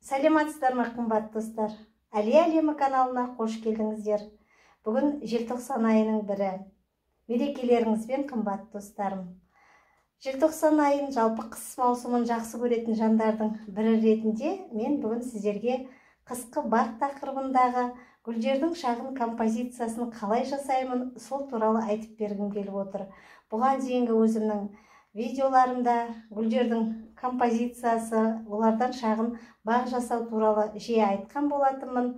Саламатсыздар ма қымбат достар? Әлия әлемі каналына қош келдіңіздер. Бүгін желтоқсан айының бірі. Мерекелеріңізбен қымбат достарым. Желтоқсан айын, жалпы қыс маусымын жақсы көретін жандардың бірі ретінде мен бүгін сіздерге қысқы бақ тақырыбындағы гүлдердің шағын композициясын қалай жасаймын, сол туралы айтып бергім келіп отыр. Бұған дейінгі өзімнің видеоларымда гүлдердің композициясы, олардан шағын бақ жасау туралы жиі айтқан болатынмын.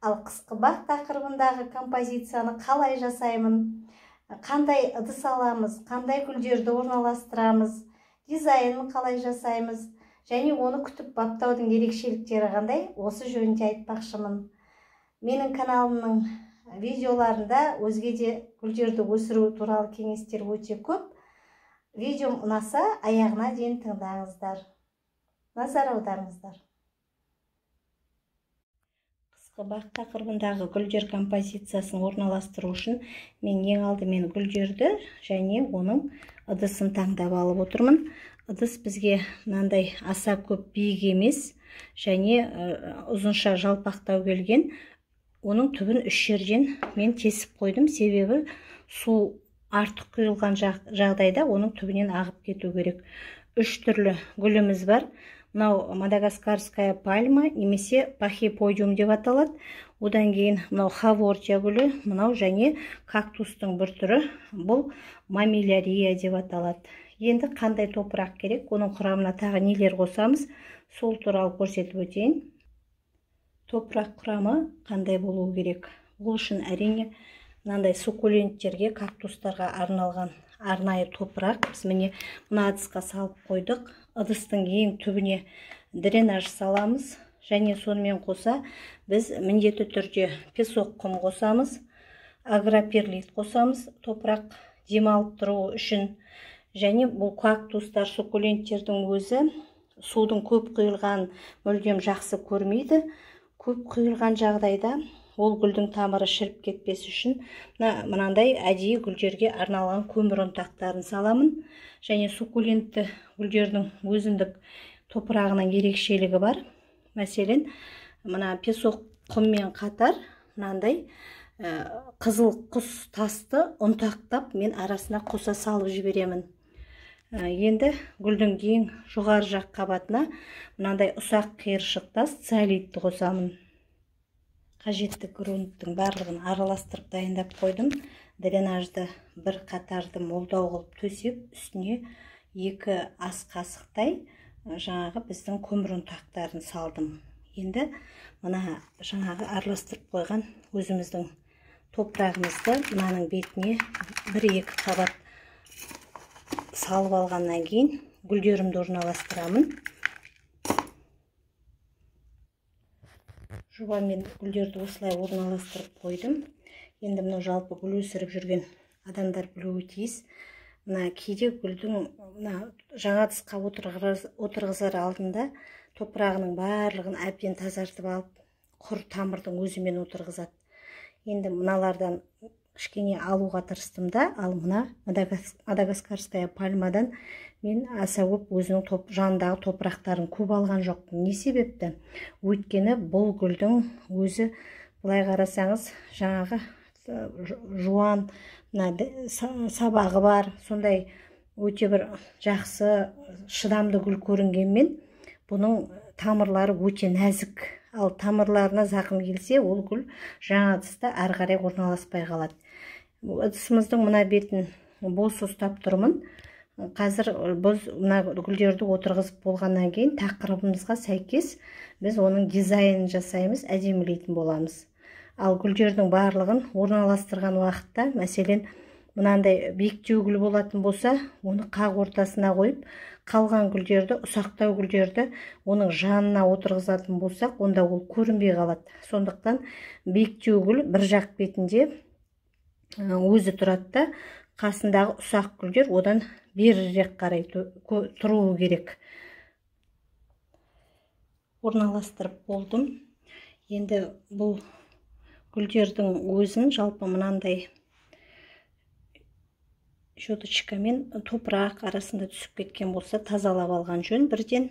Ал қысқы бақ тақырыбындағы композицияны қалай жасаймын, қандай ыдыс аламыз, қандай гүлдерді орналастырамыз, дизайнын қалай жасаймыз, және оны күтіп баптаудың ерекшеліктері қандай, осы жөнінде айтпақшымын. Менің каналымның видеоларында өзге де гүлдерді өсіру туралы кеңестер өте көп. Видеом ұнаса, аяғына дейін тыңдаңыздар. Назар аударыңыздар. Қысқы бақ тақырыбындағы гүлдер композициясын орналастыру үшін мен ең алдымен гүлдерді және оның ыдысын таңдап алып отырмын. Ыдыс бізге мынандай аса көп биік емес және ұзынша жалпақтау келген. Оның түбін үш жерден мен тесіп қойдым, себебі су артық құйылған жағдайда оның түбінен ағып кету керек. Үш түрлі гүліміз бар. Мынау мадагаскарская пальма немесе пахиподиум деп аталады. Одан кейін мынау хавортия гүлі, мынау және кактустың бір түрі, бұл мамилярия деп аталады. Енді қандай топырақ керек, оның құрамына тағы нелер қосамыз, сол туралы көрсетіп өтейін. Топырақ құрамы қандай болуы керек? Бұл үшін әрине мынандай суккуленттерге, кактустарға арналған арнайы топырақ. Біз міне мына ыдысқа салып қойдық. Ыдыстың ең түбіне дренаж саламыз және сонымен қоса біз міндетті түрде песок құм қосамыз, агроперлит қосамыз, топырақ демалып тұру үшін. Және бұл кактустар, суккуленттердің өзі судың көп құйылған мүлдем жақсы көрмейді. Көп құйылған жағдайда ол гүлдің тамыры шіріп кетпес үшін мынандай әдейі гүлдерге арналған көмір ұнтақтарын саламын. Және суккулентті гүлдердің өзіндік топырағының ерекшелігі бар. Мәселен, мына песок құммен қатар мынандай қызыл құс тасты ұнтақтап мен арасына қоса салып жіберемін. Енді гүлдің ең жоғары жақ қабатына мынандай ұсақ қиыршық тас циолитті қосамын. Қажетті грунттың барлығын араластырып дайындап қойдым. Дренажды бір қатарды молдау қылып төсеп, үстіне 2 ас қасықтай жаңағы біздің көмір ұнтақтарын салдым. Енді мына жаңағы араластырып қойған өзіміздің топырағымызды мынаның бетіне 1-2 қабат салып алғаннан кейін гүлдерімді орналастырамын. Жобамен гүлдерді осылай орналастырып қойдым. Енді мынау жалпы гүл өсіріп жүрген адамдар білуі тиіс. Мына кейде гүлдің жаңа ыдысқа отырғызар алдында топырағының барлығын әбден тазартып алып, құр тамырдың өзімен отырғызады. Енді мыналардан кішкене алуға тырыстым да, ал мына мадагаскарская пальмадан мен аса көп өзінің жанындағы топырақтарын көп алған жоқпын. Не себепті? Өйткені бұл гүлдің өзі, былай қарасаңыз, жаңағы жуан сабағы бар, сондай өте бір жақсы шыдамды гүл көрінгенмен, бұның тамырлары өте нәзік. Ал тамырларына зақым келсе, ол гүл жаңа ыдыста ары қарай орналаспай қалады. Ыдысымыздың мына бетін бос ұстап тұрмын. Қазір біз мына гүлдерді отырғызып болғаннан кейін тақырыбымызға сәйкес біз оның дизайнын жасаймыз, әдемілейтін боламыз. Ал гүлдердің барлығын орналастырған уақытта, мәселен, мынандай биіктеу гүл болатын болса, оны қақ ортасына қойып, қалған гүлдерді, ұсақтау гүлдерді оның жанына отырғызатын болсақ, онда ол көрінбей қалады. Сондықтан биіктеу гүл бір жақ бетінде өзі тұрады да, қасындағы ұсақ гүлдер одан берірек қарай тұруы керек. Орналастырып болдым. Енді бұл гүлдердің өзін жалпы мынандай щеточкамен топырақ арасында түсіп кеткен болса тазалап алған жөн бірден.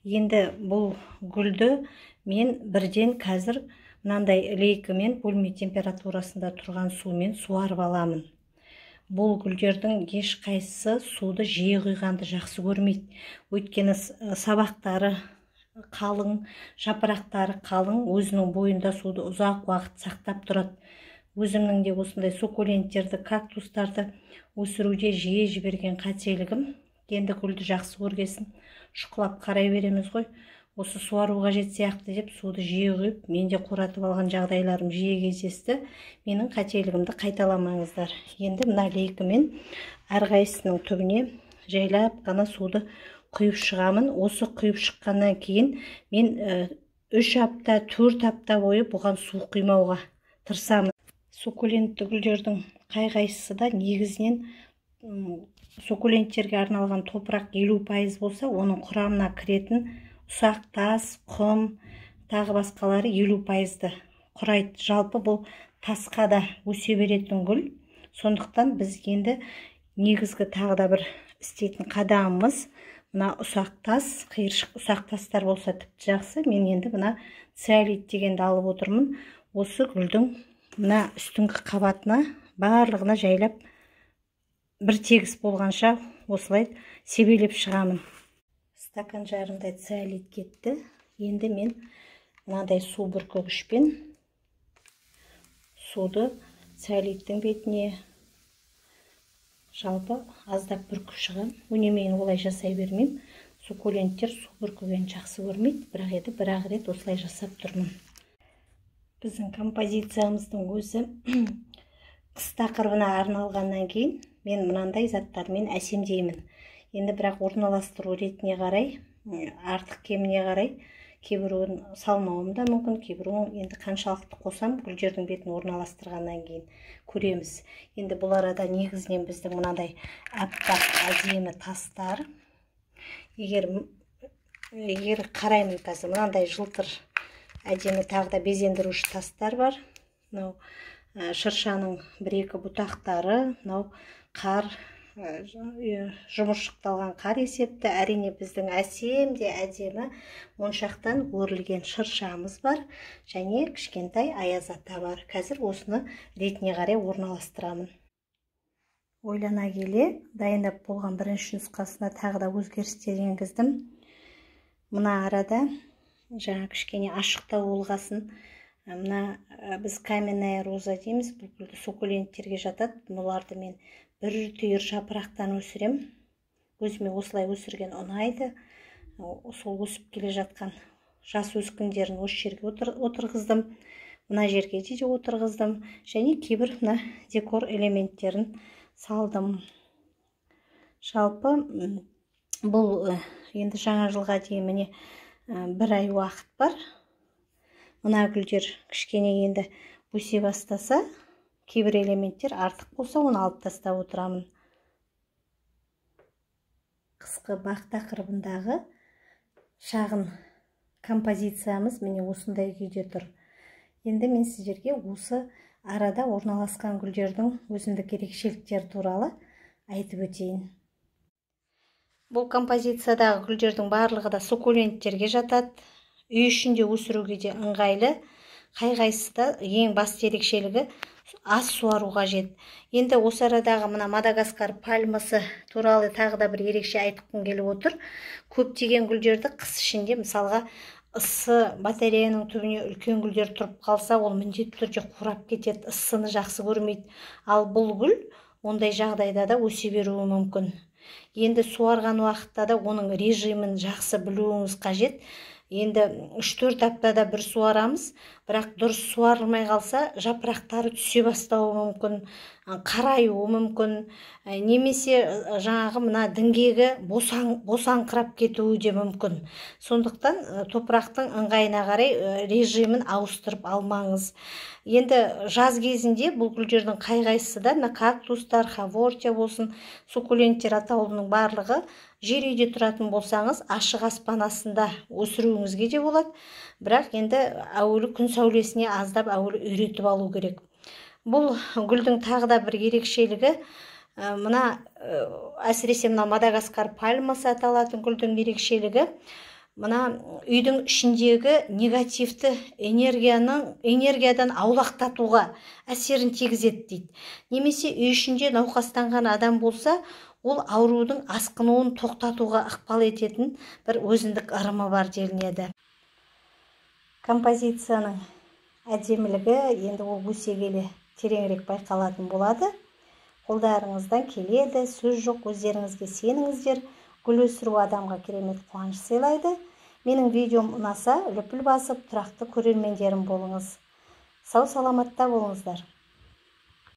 Енді бұл гүлді мен бірден қазір мынандай лейкімен бөлме температурасында тұрған сумен суарып аламын. Бұл гүлдердің ешқайсысы суды жиі құйғанды жақсы көрмейді. Өйткені сабақтары қалың, жапырақтары қалың, өзінің бойында суды ұзақ уақыт сақтап тұрады. Өзімнің де осындай суккуленттерді, кактустарды өсіруде жиі жіберген қателігім. Енді гүлді жақсы көргесін шұқылап қарай береміз ғой. Осы суару қажет сияқты деп суды жиі құйып, мен де қуратып алған жағдайларым жиі кездесті. Менің қателігімді қайталамаңыздар. Енді мына лейкімен әрқайсысының түбіне жайлап қана суды құйып шығамын. Осы құйып шыққаннан кейін мен 3 апта, 4 апта бойы бұған су құймауға тырысамын. Суккулентті гүлдердің қай-қайсысы да негізінен суккуленттерге арналған топырақ 50% болса, оның құрамына кіретін ұсақ тас, құм, тағы басқалары 50%-ді құрайды. Жалпы бұл тасқа да өсе беретін гүл. Сондықтан біз енді негізгі тағы да бір істейтін қадамымыз мына ұсақ тас, қиыршық ұсақ тастар болса тіпті жақсы. Мен енді мына циолит дегенді алып отырмын. Осы гүлдің мына үстіңгі қабатына барлығына жайлап бір тегіс болғанша осылай себелеп шығамын. Стакан жарымдай циолит кетті. Енді мен мынандай су бүркегішпен суды циолиттің бетіне жалпы аздап бүркіп шығам. Өнемейін олай жасай бермеймін. Суккуленттер су бүркегенді жақсы көрмейді, бірақ еді бір-ақ рет осылай жасап тұрмын. Біздің композициямыздың өзі қыс тақырыбына арналғаннан кейін мен мынандай заттармен әсемдеймін. Енді бірақ орналастыру ретіне қарай, артық кеміне қарай, кейбіреуін салмауым да мүмкін, кейбіреуін енді қаншалықты қосам, гүлдердің бетін орналастырғаннан кейін көреміз. Енді бұл арада негізінен біздің мынандай аппақ әдемі тастар. Егер қараймын қазір, мынандай жылтыр әдемі тағы да безендіруші тастар бар. Мынау шыршаның 1-2 бұтақтары, мынау қар, жұмыршықталған қар есепті. Әрине біздің әсем де әдемі моншақтан өрілген шыршамыз бар, және кішкентай аяз ата бар. Қазір осыны ретіне қарай орналастырамын. Ойлана келе, дайындап болған бірінші нұсқасына тағы да өзгерістер енгіздім. Мына арада жаңа кішкене ашықтау болғасын, мына біз каменная роза дейміз, бұл гүлді суккуленттерге жатады. Бұларды мен бір түйір жапырақтан өсірем. Өзіме осылай өсірген ұнайды. Сол өсіп келе жатқан жас өскіндерін осы жерге отырғыздым. Мына жерге де отырғыздым. Және кейбір мына декор элементтерін салдым. Жалпы бұл енді жаңа жылға дейін міне 1 ай уақыт бар. Мына гүлдер кішкене енді өсе бастаса, кейбір элементтер артық болса, оны алып тастап отырамын. Қысқы бақ тақырыбындағы шағын композициямыз міне осындай күйде тұр. Енді мен сіздерге осы арада орналасқан гүлдердің өзіндік ерекшеліктері туралы айтып өтейін. Бұл композициядағы гүлдердің барлығы да суккуленттерге жатады. Үй ішінде өсіруге де ыңғайлы. Қай-қайсысы да ең басты ерекшелігі аз суару қажет. Енді осы арадағы мына Мадагаскар пальмасы туралы тағы да бір ерекше айтқым келіп отыр. Көптеген гүлдерді қыс ішінде, мысалға, ыссы батареяның түбіне үлкен гүлдер тұрып қалса, ол міндетті түрде қурап кетеді, ысыны жақсы көрмейді. Ал бұл гүл ондай жағдайда да өсе беруі мүмкін. Енді суарған уақытта да оның режимін жақсы білуіңіз қажет. Енді 3-4 аптада бір суарамыз, бірақ дұрыс суарылмай қалса, жапырақтары түсе бастауы мүмкін, қараюы мүмкін, немесе жаңағы мына діңгегі босаңқырап кетуі де мүмкін. Сондықтан топырақтың ыңғайына қарай режимін ауыстырып алмаңыз. Енді жаз кезінде бұл гүлдердің қай-қайсысы да, кактустар, хавортия болсын, суккуленттер атаулының барлығы жер үйде тұратын болсаңыз, ашық аспан астында өсіруіңізге де болады. Бірақ енді әуелі күн сәулесіне аздап әуелі үйретіп алу керек. Бұл гүлдің тағы да бір ерекшелігі, мына әсіресе мына Мадагаскар пальмасы аталатын гүлдің ерекшелігі, мына үйдің ішіндегі негативті энергиядан аулақтатуға әсерін тигізеді дейді. Немесе үй ішінде науқастанған адам болса, ол аурудың асқынуын тоқтатуға ықпал ететін бір өзіндік ырымы бар делінеді. Композицияның әдемілігі енді ол өсе келе тереңірек байқалатын болады. Қолдарыңыздан келеді, сөз жоқ, өздеріңізге сеніңіздер. Гүл өсіру адамға керемет қуаныш сыйлайды. Менің видеом ұнаса, лүпіл басып, тұрақты көрермендерім болыңыз. Сау саламатта болыңыздар.